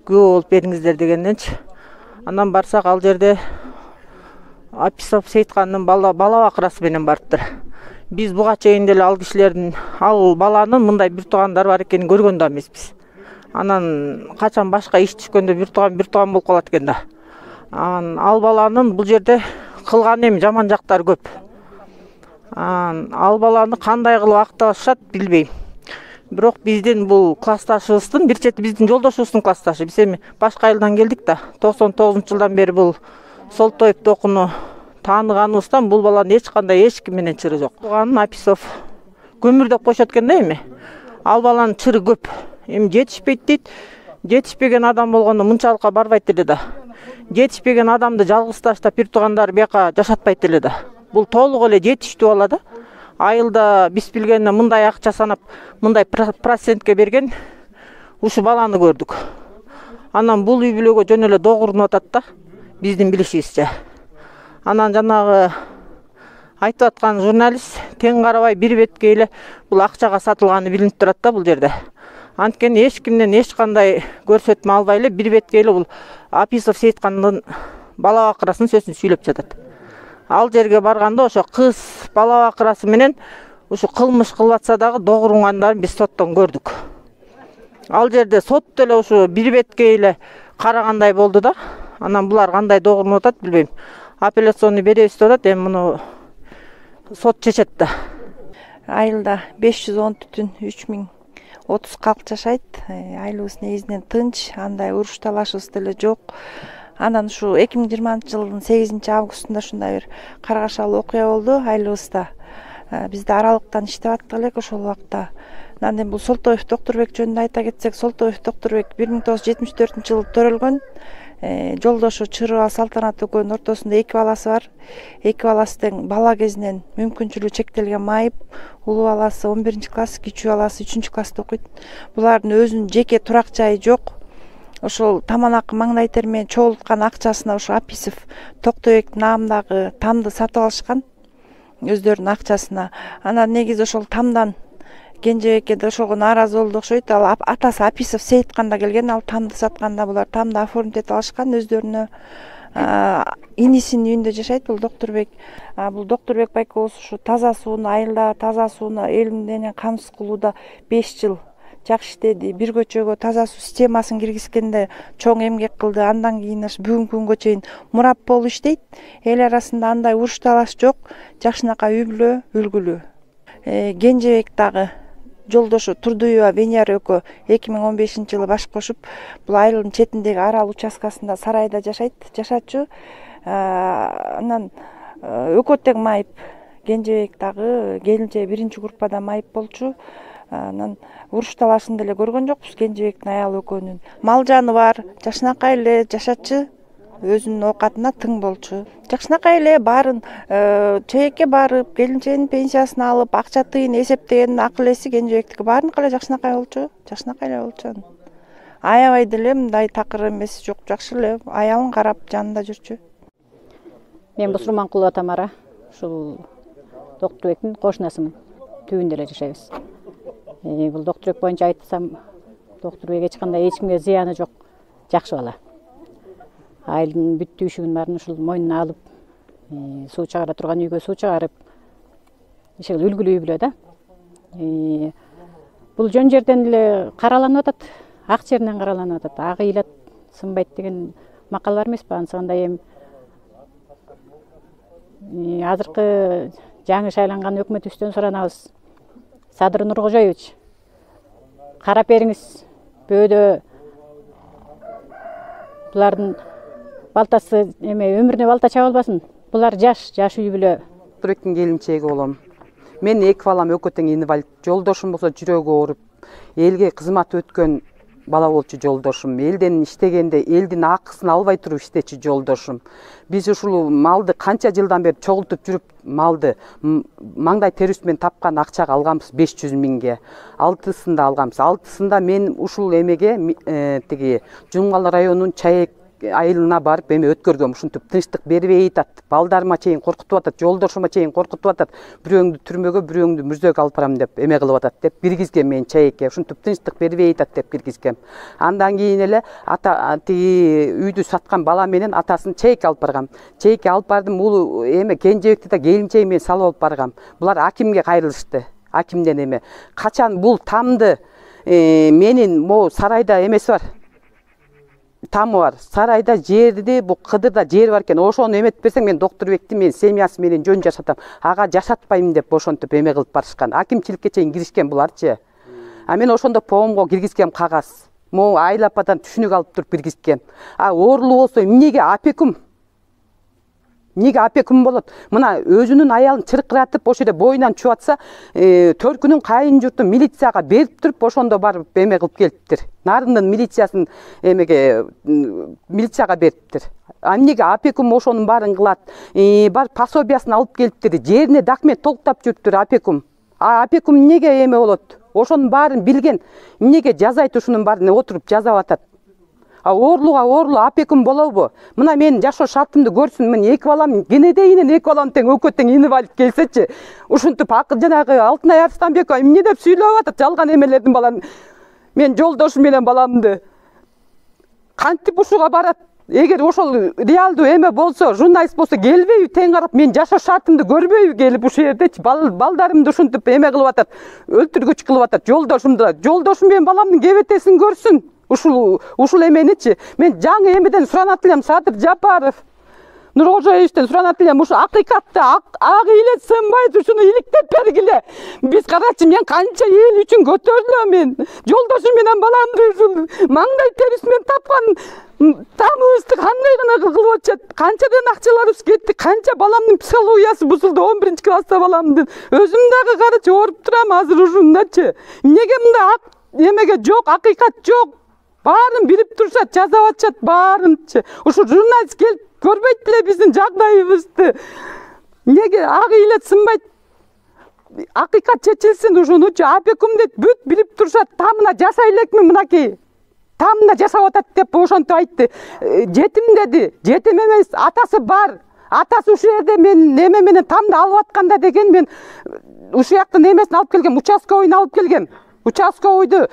күбө болуп бериңиздер дегенденчи. Анан барсак ал жерде Аписов Сейиткандын бала бакырасы менен барыптыр. Биз буга чейин деле ал кишилердин, ал баланын мындай бир туугандар бар экенин көргөн да эмеспиз. Анан качан башка иш түшкөндө бир тууган болуп калат экен да. Ал баланын бул жерде кылган эми жаман жактары көп. Ал баланы кандай кылып акташат билбейм. Бирок биздин бул классташыбыздын, бир чети биздин жолдошубуздун классташы. Биз эми башка айылдан келдик да. 99-жылдан бери бул Солтоев Токуну тааныганыбыздан бул баланын эч кандай эчки менен чыры жок. Тууганын Аписов көмүр деп коюшат экен да эми. Ал баланын чыры көп. Эми жетишпейт дейт. Жетишпеген адам болгондо мынчалыкка барбайт эле да. Жетишпеген адамды жалгыз таштап бир туугандар бияка жашатпайт эле да. Бул толук эле жетиштүү бала да. Айылда биз билгенде мындай акча санап, мындай процентке берген ушу баланы көрдүк. Анан бул үй бүлөгө жөн эле догурунуп атат да, биздин билишибизче. Анан жанагы айтып аткан журналист тең карабай бир бетке эле бул акчага сатылганы билинип турат да бул жерде. Анткени эч кимден эч кандай көрсөтмө албай эле бир бетке эле бул Аписов Сейиткандын бала бакырасын сөзүн сүйлөп жатат. Ал жерге барганда ошо кыз бала бакырасы менен ушу кылмыш кылып атса дагы догурунгандарын биз соттон көрдүк. Ал жерде сот деле ушу бир бетке эле карагандай болду да. Анан булар кандай догурунуп атат билбейм. Апелляционный беребиз деп атат, эми муну сот чечет да. Айылда 510,330 калк жашайт. Айылыбыз негизинен тынч, андай уруш талашыбыз деле жок. Анан ушу 2020-жылдын 8-августунда ушундай бир каргашалуу окуя болду айылыбызда. Бизде аралыктан иштеп аттык элек ошол убакта. Анан бул Солтоев Доктурбек жөнүндө айта кетсек, Солтоев Доктурбек 1974-жылы төрөлгөн. Жолдошу Чырова Салтанат экөөнүн ортосунда 2 баласы бар. 2 баласы тең бала кезинен мүмкүнчүлүгү чектелген майып. Улуу баласы 11-класс, кичүү баласы 3-класста окуйт. Булардын өзүнүн жеке турак жайы жок. Ошол таманакы маңдай тер менен чогулткан акчасына ошо Аписов Токтойбек наамындагы тамды сатып алышкан өздөрүнүн акчасына. Анан негизи ошол тамдан Кенжебекке да ошого нааразы болду окшойт. Ал атасы Аписов Сейитканда келген, ал тамды сатканда булар тамды оформить этип алышкан өздөрүнө. Инисинин үйүндө жашайт бул Доктурбек. Бул Доктурбек байкобуз ушу таза сууну, айылда таза сууну эл менен камсыз кылууда 5 жыл жакшы иштеди. Бир көчөгө таза суу системасын киргизгенде чоң эмгек кылды. Андан кийин бүгүнкү күнгө чейин мурап болуп иштейт. Эл арасында андай уруш талаш жок. Жакшынакай үй бүлө, үлгүлүү. Кенжебек дагы жолдошу Турдуева Венера экөө 2015-жылы баш кошуп, бул айылдын четиндеги арал участкасында сарайда жашачу. Анан экөө тең майып. Кенжебек дагы келинче 1-группада майып болчу. Анан уруш талашын деле көргөн жокпуз Кенжебектин аялы экөөнүн. Мал жаны бар, жакшынакай эле жашачы, өзүнүн оокатына тың болчу. Жакшынакай эле баарын чейекке барып, келинчегинин пенсиясын алып, акча тыйын эсептеген акыл эси Кенжебектики баарыныкы эле жакшынакай болчу. Жакшынакай эле болчу. Аябай деле мындай такыр эмеси жок, жакшы эле аялын карап жанында жүрчү. Мен Бусурманкулова Тамара, ушул Доктурбектин кошунасымын. Түбүндө эле жашайбыз. Бул Доктурбек боюнча айтсам, Доктурбек эч кандай эч кимге зыяны жок, жакшы бала. Айылдын бүт түйшүгүн баарын ушул мойнуна алып, суу чыгара турган үйгө суу чыгарып, ишил үлгүлүү үй бүлө да. Бул жөн жерден эле караланып атат, ак жеринен караланып атат. Ак ыйлат сынбайт деген макал бар эмеспи? Ансыгандай эми азыркы жаңы шайланган өкмөтүбүздөн суранабыз. Садыр Нуркожоевич, карап бериңиз, бөөдө булардын балтасы өмүрүнө балта чаба албасын. Булар жаш үй бүлө. Доктурбектин келинчеги болом. Мен эки балам экөө тең инвалид. Жолдошум болсо жүрөгү ооруп, элге кызмат өткөн бала болчу жолдошум. Элден иштегенде элдин акысын албай туруп иштечү жолдошум. Биз ушул малды канча жылдан бери чогултуп жүрүп, малды маңдай терибиз менен тапкан акчага алганбыз 500 миңге. 6-сында алганбыз. 6-сында мен ушул эмеге тиги Жумгал районунун Чаек айылына барып эме өткөргөм. Ушинтип тынчтык бербей атат. Балдарыма чейин коркутуп атат, жолдошума чейин коркутуп атат. Бирөөңдү түрмөгө, бирөөңдү мүрзөгө алып барам деп эме кылып атат деп киргизгем мен Чаекке. Ушинтип тынчтык бербей атат деп киргизгем. Андан кийин эле тиги үйдү саткан бала менен атасын Чаекке алып баргам. Чаекке алып бардым. Бул эме Кенжебекти да келинчеги менен салып алып баргам. Булар акимге кайрылышты. Акимден эме качан бул тамды менин могу сарайда эмеси бар. Тамы бар. Сарайда жерди, бу Кыдырда жер бар экен. Ошону эметип берсең, мен Доктурбекти мен семьясы менен жөн жашатам. Ага жашатпайм деп ошентип эме кылып барышкан. Акимчиликке чейин киришкен буларчы. А мен ошондо поомго киргизгем кагаз. Могу Айыл ападан түшүнүк алып туруп киргизгем. Оорулуу болсо эмнеге опекун? Эмнеге опекун болот? Мына өзүнүн аялын чыркыратып, ошо жерде боюнан чуп атса, Төркүнүн кайын журтун милицияга берип туруп, ошондо барып эме кылып келиптир. Нарындын милициясын эмеге милицияга бериптир. Эмнеге опекун ошонун баарын кылат? Бар пособиясын алып келиптир. Жерине документ толуктап жүрүптүр опекун. Опекун эмнеге эме болот? Ошонун баарын билген. Эмнеге жазайт ушунун баарын отуруп жазап атат? Оорулууга оорулуу опекун болобу? Мына менин жашоо шартымды көрсүн. Мен эки балам, кенедейинен эки балам тең экөө тең инвалид келсечи, ушинтип жанагы Алтынай Арстанбекова эмне деп сүйлөп атат, жалган эмелердин баланы. Мен жолдошум менен баламды кантип ушуга барат? Эгер ошол реалдуу эме болсо, журналист болсо келбейби тең карап, мен жашоо шартымды көрбөйбү келип ушул жердечи? Балдарымды ушинтип эме кылып атат, өлтүргүч кылып атат жолдошумду. Жолдошум менен баламдын кебетесин көрсүн. Ушул эменичи мен жаңы эмеден суранат элем, Садыр Жапаров, Нуркожоевичтен суранат элем, ушу акыйкатты ак ыйлет сынбайт, ушуну иликтеп бергиле. Биз карачы, мен канча эл үчүн көтөрүлөм, мен жолдошум менен баламды ушул маңдай терибиз менен тапкан тамыбызды кандай гана кылып атышат, канчадан акчаларыбыз кетти, канча баламдын психологиясы бузулду. 11-класста баламдын өзүм дагы карачы ооруп турам азыр ушундачы. Эмнеге мындай эмеге жок, акыйкат жок? Баарын билип турушат, жазап атышат баарынчы. Ушу журналист келип көрбөйт беле биздин жагдайыбызды? Эмнеге ак ыйлет сынбайт? Акыйкат чечилсин ушунучу. Опекун дейт, бүт билип турушат. Тамына жасай элекми мынакей? Тамына жашап атат деп ошентип айтты. Жетим деди. Жетим эмес, атасы бар. Атасы ушул жерде мен эме менен тамды алып атканда деген мен ушул жактын эмесин алып келгем, участковыйны алып келгем. Участковыйды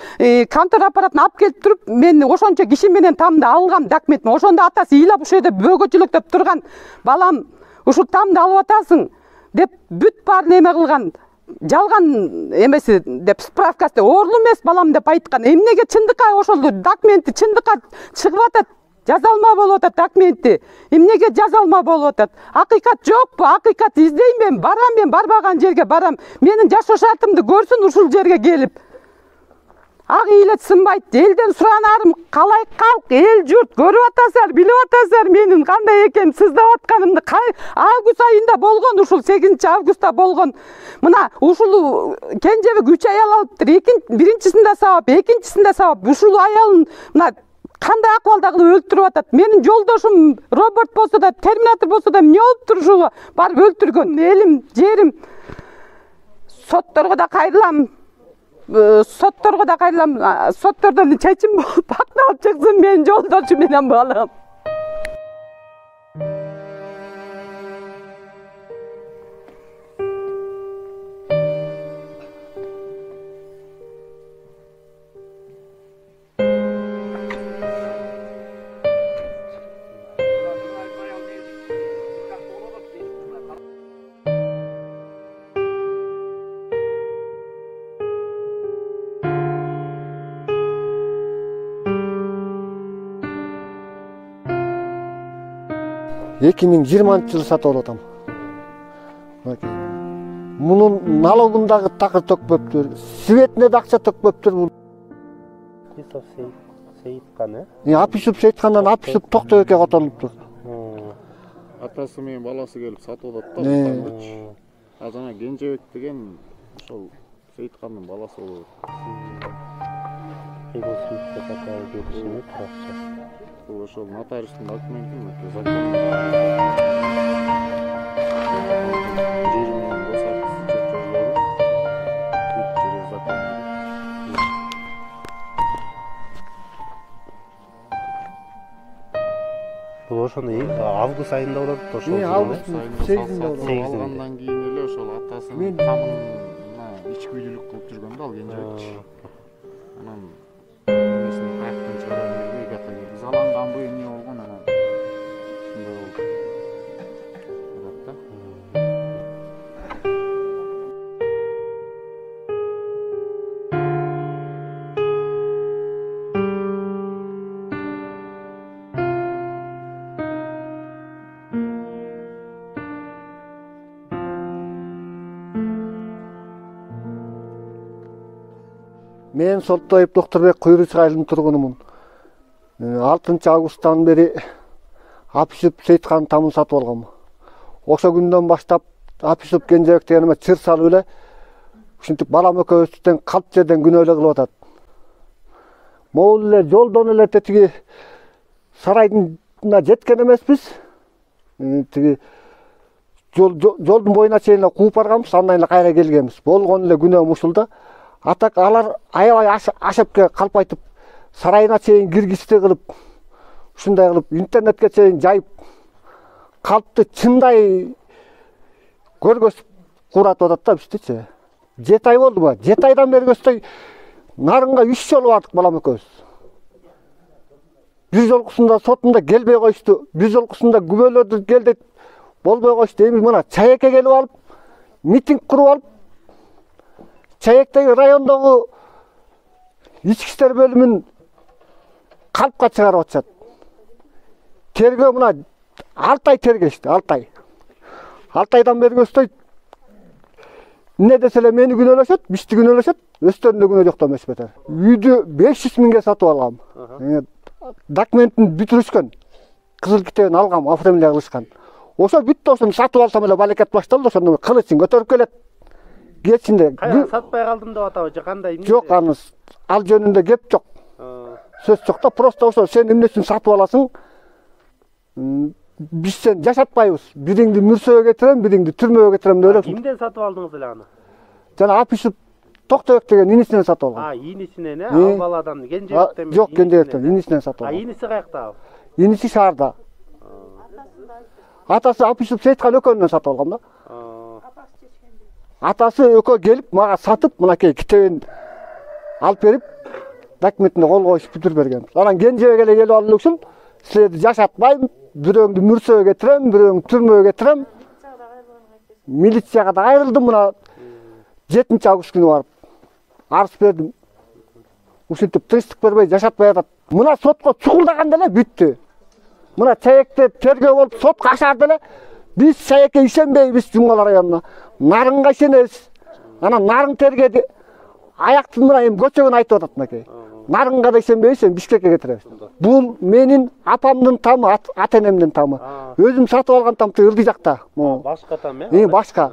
контор аппаратын алып келип туруп, мен ошончо киши менен тамды алгам документин. Ошондо атасы ыйлап ушул жерде бөгөчүлүктөп турган. Балам, ушул тамды алып атасың деп бүт баарын эме кылган. Жалган эмеси деп справкасы оорулуу эмес балам деп айткан. Эмнеге чындыкка ошол документи чындыкка чыгып атат? Жазалма болуп атат документи. Эмнеге жазалма болуп атат? Акыйкат жокпу? Акыйкат издейм мен, барам, мен барбаган жерге барам. Менин жашоо шартымды көрсүн ушул жерге келип. ак ыйлет сынбайт. Элден суранарым, калай калк, эл журт көрүп атасыздар, билип атасыздар менин кандай экен сыздап атканымды. Август айында болгон, ушул 8-августта болгон. Мына ушул кенжебек 3 аял алыптыр. Биринчисинде сабап, экинчисинде сабап. Ушул аялын мына кандай акыбалда кылып өлтүрүп атат. Менин жолдошум робот болсо да, терминатор болсо да эмне болуптур ушуга барып өлтүргөн. Элим, жерим сотторго да кайрылам. Соттордон чечим болуп акталып чыксын менин жолдошум менен балам. Эки миң 20-жылы сатып алып атам. Мунун налогундагы такыр төкпөптүр, светине да акча төкпөптүр. Исов Сейиткан, Апишов Сейиткандан Апишов Токтойбекке которулуптур. Атасы менен баласы келип сатып атат да. А жана Кенжебек деген ошол Сейиткандын баласы болот. Ошол нотариустун документин закон. Бул ошону август айында болот, ошол. Август 8-inde болот. Алгандан кийин эле ошол атасынын камын ичкилүүлүк кылып жүргөн да ал Кенжебек. Анан эмесин каяктан чыгарып бербей, каяктан киргизаланганбы, эмне болгон анан ушундай болду. Мен Солтоев Докторбек Куйручук айылынын тургунумун. 6-августтан бери Апишов Сейиткандын тамын сатып алгам. Ошо күндөн баштап Апишов Кенжебек дегениме чыр салып эле ушинтип балам экөөбүздөн калп жерден күнөөлө кылып атат. Могул эле жолдон эле тиги сарайдына жеткен эмеспиз. Тиги жолдун боюна чейин эле кууп барганбыз, андан эле кайра келгенбиз. Болгон эле күнөөм ушул да. Атак алар аябай ашепке калп айтып, сарайына чейин киргизди кылып, ушундай кылып интернетке чейин жайып, калпты чындай көргөзүп куратып атат да биздичи. 7 ай болду ба? 7 айдан бери көздөй нарынга 3 жолу бардык балам экөөбүз. Бир жолкусунда сотунда келбей коюшту, бир жолкусунда күбөлөрдү келди болбой коюшту. Эми мына Чаекке келип алып, митинг куруп алып, Чаектеги райондогу ички иштер бөлүмүн калпка чыгарып атышат. Тергөө мына 6 ай тергешти, 6 ай. 6 айдан бери көздөй эмне десе эле мени күнөөлөшөт, бизди күнөөлөшөт, өздөрүндө күнөө жок эмес бетер. Үйдү 500 миңге сатып алгам. Документин бүтүрүшкөн. Кызыл китебин алгам, оформление кылышкан. Ошо бүттү, ошону сатып алсам эле балекет башталды, ошондо кылычын көтөрүп келет. Кетсинде. Сатпай калдым деп атабы же кандай? Жок, ал жөнүндө кеп жок. Сөз жок да, просто ошо сен эмне үчүн сатып аласың? Биз сен жашатпайбыз. Бириңди мүрсөгө кетирем, бириңди түрмөгө кетирем деп элек. Кимден сатып алдыңыз эле аны? Жана Апишов Токтойбек деген инисинен сатып алгам. Инисинен, ал баладан, Кенжебектен? Жок, Кенжебектен, инисинен сатып алгам. Иниси каякта? Иниси шаарда. Атасы Апишов Сейиткан экөөнөн сатып алгам да. Атасы экөө келип мага сатып, мынакей китебин алып берип, документине кол коюп бүтүрүп берген. Анан Кенжебек эле келип алып ушул, силерди жашатпайм, бирөөңдү мүрсөгө кетирем, бирөөңдү түрмөгө кетирем. Милицияга да кайрылдым, мына 7-август күнү барып арыз бердим. Ушинтип тынчтык бербей жашатпай атат. Мына сотко чукулдаганда эле бүттү. Мына Чаекте тергөө болуп сотко ашарды эле. Биз Чаекке ишенбейбиз Жумгала районуна. Нарынга ишенебиз. Анан нарын тергеди. аяктын мына эми көчөгүн айтып атат мынакей. Нарынга да ишенбейсиң, Бишкекке кетиребиз. Бул менин апамдын тамы, ата-энемдин тамы. Өзүм сатып алган тамчы ылдый жакта. Башка там э? Башка.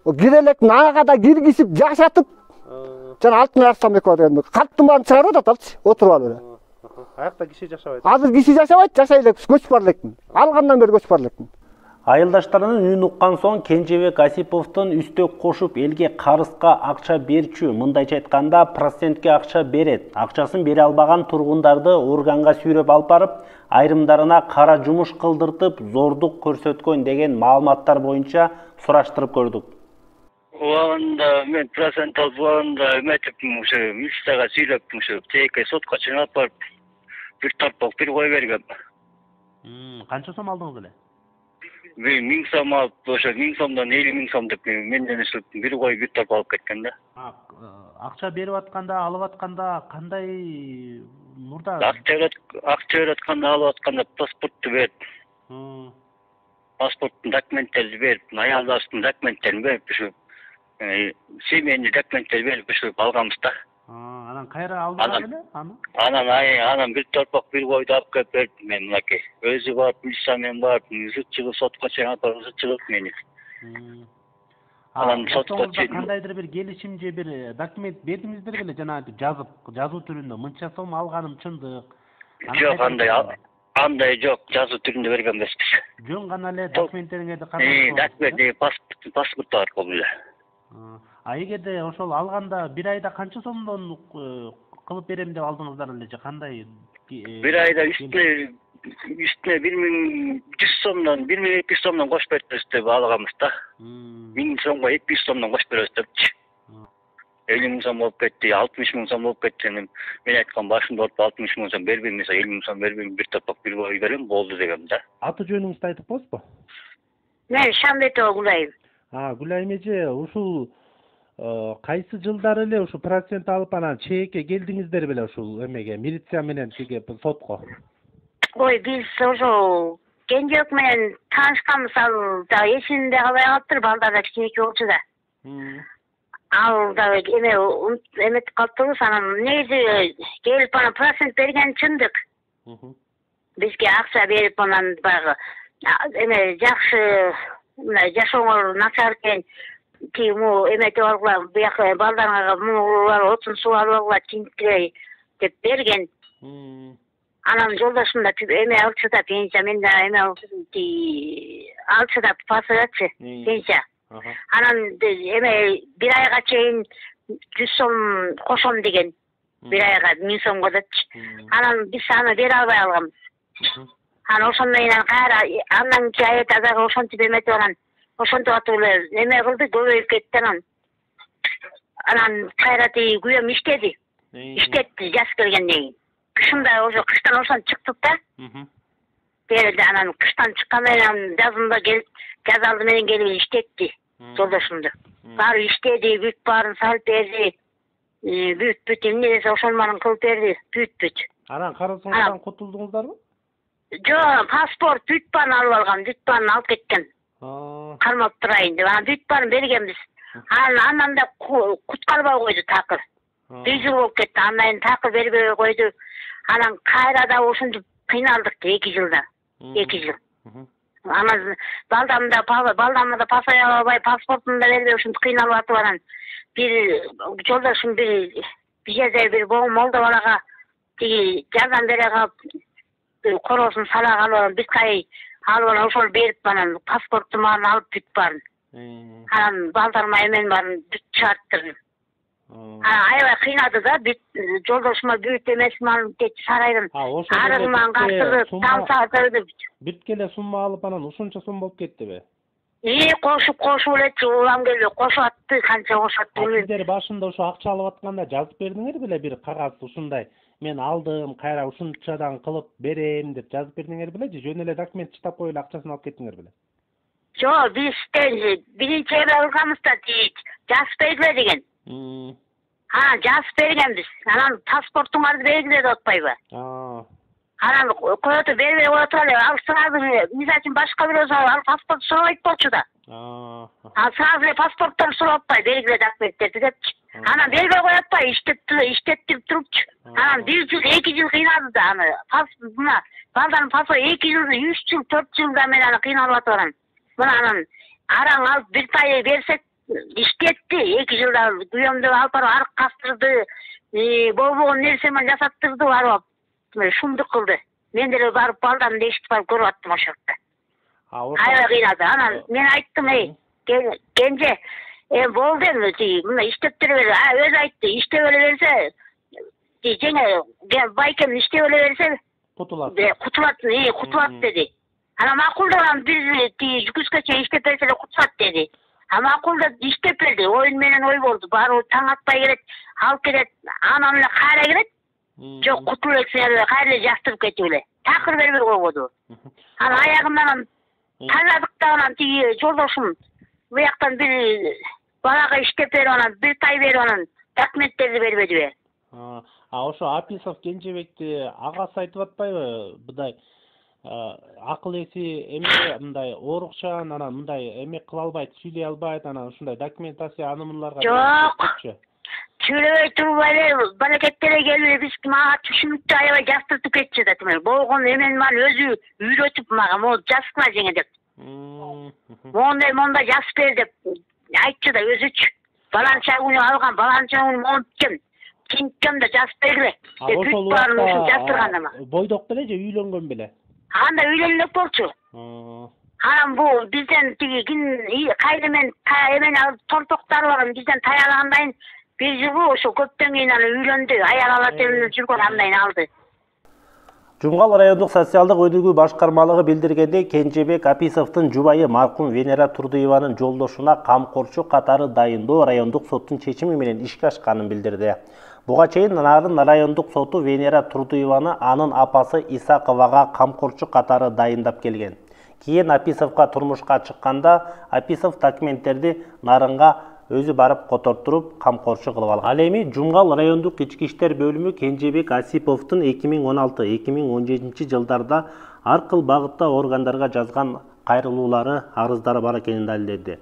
Кирелектин ага да киргизип жашатып, жана алтын арстам экөө деген. Каттын баарын чыгарып атат алчы, отуруп алып эле. Аякта киши жашабайт. Азыр киши жашабайт, жашай элек, көчүп бар электин. Алгандан бери көчүп бар электин. Айылдаштарынын үнүн уккан соң Кенжебек Асиповдун үстөк кошуп элге карызга акча берчү. Мындайча айтканда процентке акча берет. Акчасын бере албаган тургундарды органга сүйрөп алып барып, айрымдарына кара жумуш кылдыртып, зордук көрсөткөн деген маалыматтар боюнча сураштырып көрдүк. Убагында мен процент алып убагында эметипмин, ушу милицияга сүйлөптүм, ушу тээкке сотко чыгып алып барып, бир торпок бир кой бергем. Канча сом алдыңыз эле? 1000 сом алып, ошо 1000 сомдон 50 000 сом деп менден ушул бир кой бир торпок алып кеткен да. Акча берип атканда, алып атканда кандай мурда? Акча берип атканда, алып атканда паспортту берип. Паспорттун документтерин берип, аялдаштын документтерин берип, ушу семейный документтерди берип ушу алганбыз да. Анан кайра алдыңыз эле аны? Анан бир торпок бир койду алып келип бердим мен мынакей. Өзү барып, милиция менен барып, зыт чыгып сотко чыгып алып, зыт чыгып мени. Анан сотко чыгып кандайдыр бир келишим же бир документ бердиңиздер беле, жана жазып, жазуу түрүндө мынча сом алганым чындык. Жок, андай жок, жазуу түрүндө берген эмеспиз. Жөн гана эле документтериңерди кандай? Документ, паспорт бар болду эле. Эгерде ошол алганда бир айда канча сомдон кылып берем деп алдыңыздар эле же кандай? Бир айда үстүнө 1100 сомдон, 1200 сомдон кошуп беребиз деп алганбыз да. 1000 сомго 200 сомдон кошуп беребиз депчи. 50 000 сом болуп кетти, 60 000 сом болуп кетти. Мен айткан башында 60 000 сом бербейм, 50 000 сом бербейм, бир торпок бир кой берем, болду дегем да. Аты жөнүңүздү айтып коесузбу? Мен Шамбетова Гүлайым. Гүлайым эже, ушул кайсы жылдары эле ушу процент алып анан чекке келдиңиздер беле ушул эмеге, милиция менен тиги сотко? Ой, биз ошо Кенжебек менен таанышканбыз, ал да эсимде калбай калыптыр, балдар да кичинекей болчу да. Ал да эметип калыптырбыз, анан негизи келип анан процент берген чындык. Бизге акча берип анан баягы жакшы мына жашооңор начар экен, тигиму эметип алгыла, бияка балдарыңарга мунулар отун суу алып алгыла, тинткилей деп берген. Анан жолдошум да алчу да пенсия, мен да алчу да пасырачы пенсия. Анан бир айга чейин 100 сом кошом деген, бир айга 1000 сомго депчи. Анан биз аны бере албай алганбыз. Анан ошондон кийин кайра андан кийин аят азага ошентип эметип анан ошентип атып эле эме кылды, көбөйүп кетти анан. Анан кайра тиги күйөөм иштетти жаз келгенден кийин. Кышында ошо кыштан ошон чыктык да. Берди, анан кыштан чыккандан кийин жазында келип, жаз алды менен келип иштетти жолдошумду. Баары иштеди, бүт баарын салып берди. Бүт эмне десе ошонун баарын кылып берди, бүт. Анан карызыңыздан кутулдуңуздарбы? Жок, паспорт бүт баарын алып алган, бүт баарын алып кеткен. Кармап турайын деп, анан бүт баарын бергенбиз. Анан да куткарбай койду такыр. 1 жыл болуп кетти, андан такыр бербей койду. Анан кайра да ошентип кыйналдык 2 жылда. 2 жыл. Анан балдамды да пасай албай, паспортун да бербей ушинтип кыйналып атып анан бир жолдошум бир жерде бир молда балага тиги жардам бере калып короосун сала калып биз кай алып анан ошол берип анан паспорттун баарын алып бүт баарын. Анан балдарыма эмен баарын бүт чыгарттырдым. Аябай кыйнады да, бүт жолдошума бүт эмесин алып кетти сарайдын. Арыгынан картырды, тамсатырды. Бүткө эле сумма алып анан ушунча сом болуп кеттиби? Кошуп элечи, улам келбей кошуп атты, канча кошуп атты. Сиздер башында ошо акча алып атканда жазып бердиңер беле бир кагаз ушундай? Мен алдым, кайра ушунчадан кылып берем деп жазып бердиңер беле же жөн эле документ чыктап коюп эле акчасын алып кеттиңер беле? Жок, биз биринчи эме кылганбыз да, жазып бергиле деген. Жазып бергенбиз. Анан паспортуңарды бергиле деп атпайбы? Анан коётуп бербей коя туралы, ал сразу мисалы үчүн башка бирөө ал паспорт сурабайт болчу да. Ал сразу паспорттон сурап атпай, белгиле документтерди депчи. Анан бербей коюп атпай, иштеттирип турупчу. Анан 1 жыл, 2 жыл кыйнады да аны. Мына балдардын паспорту 2 жыл, 3 жыл, 4 жылда мен аны кыйналып атам. Мына анан араң алып бир тай берсек иштетти, 2 жылда күйөөмдү алып барып арык кастырды, болбогон нерсе менен жасаттырды, барып шумдук кылды. Мен деле барып балдарын ешитип барып көрүп аттым ошол жерде. Аябай кыйнады. Анан мен айттым, кенже, болду эми, мына иштеп бере бер. Өзү айтты, иштеп эле берсе, жеңе байкем иштеп эле берсе, кутулат деди. Анан макул деп биз күзгө чейин иштеп берсе эле кутулат деди. Макул деп иштеп берди. Оюн менен ой болду. Баары таң атпай келет, алып келет, анан эле кайра келет. Жок, кутулуп эле кайра эле жаштырып кетип эле. Такыр бербей койбоду. Анан аягынан тарадык да анан тиги жолдошум буяктан бир балага иштеп берип анан бир тай берип анан документтерди бербедиби? Ошо Аписов Кенжебекти агасы айтып атпайбы? Мындай акыл эси эме мындай оорукчан, анан мындай эме кыла албайт, сүйлөй албайт, анан ушундай документация анымыларга. Жок. Сүйлөбөй туруп эле балекеттерге келип биз мага түшүнүктү аябай жаштыртып кетчү да тимер. Болгон эмени мага өзү үйрөтүп мага, могу жазгыла жеңе деп. Мондай жазып бер деп айтчу да өзүчү. Баланча күнү алган, баланча күнү монткен. Кинткем да жазып бергиле. Бүт баарын ушул жаздырганда мага. Бойдок беле же үйлөнгөн беле? Анда үйлөнгөн болчу. Анан бул бизден тиги кайны мен эмени алып тортоктор бизден таялагандан бир жылы ошо көптөн кийин аны үйлөндү, аял ала терилип жүргөн андан алды. Жумгал райондук социалдык өнүгүү башкармалыгы билдиргендей, Кенжебек Аписовдун жубайы маркум Венера Турдуеванын жолдошуна камкорчу катары дайындоо райондук соттун чечими менен ишке ашканын билдирди. Буга чейин Нарын райондук соту Венера Турдуеваны анын апасы Исаковага камкорчу катары дайындап келген. Кийин Аписовго турмушка чыкканда Аписов документтерди Нарынга өзү барып котортуруп камкорчу кылып алган. Ал эми Жумгал райондук ички иштер бөлүмү Кенжебек Асиповдун 2016-2017 жылдарда ар кыл багытта органдарга жазган кайрылуулары, арыздары бар экенин далилдеди.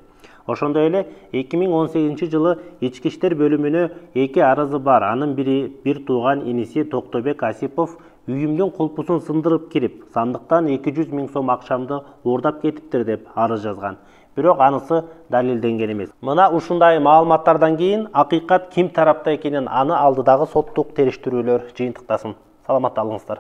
Ошондой эле 2018 жылы ички иштер бөлүмүнө 2 арызы бар. Анын бири бир тууган иниси Токтобек Асипов үйүмдүн кулпусун сындырып кирип, сандыктан 200 000 сом акчамды уурдап кетиптир деп арыз жазган. Бирок анысы далилденген эмес. Мына ушундай маалыматтардан кийин акыйкат ким тарапта экенин аны алдыдагы соттук териштирүүлөр жыйынтыктасын. Саламатта алыңыздар.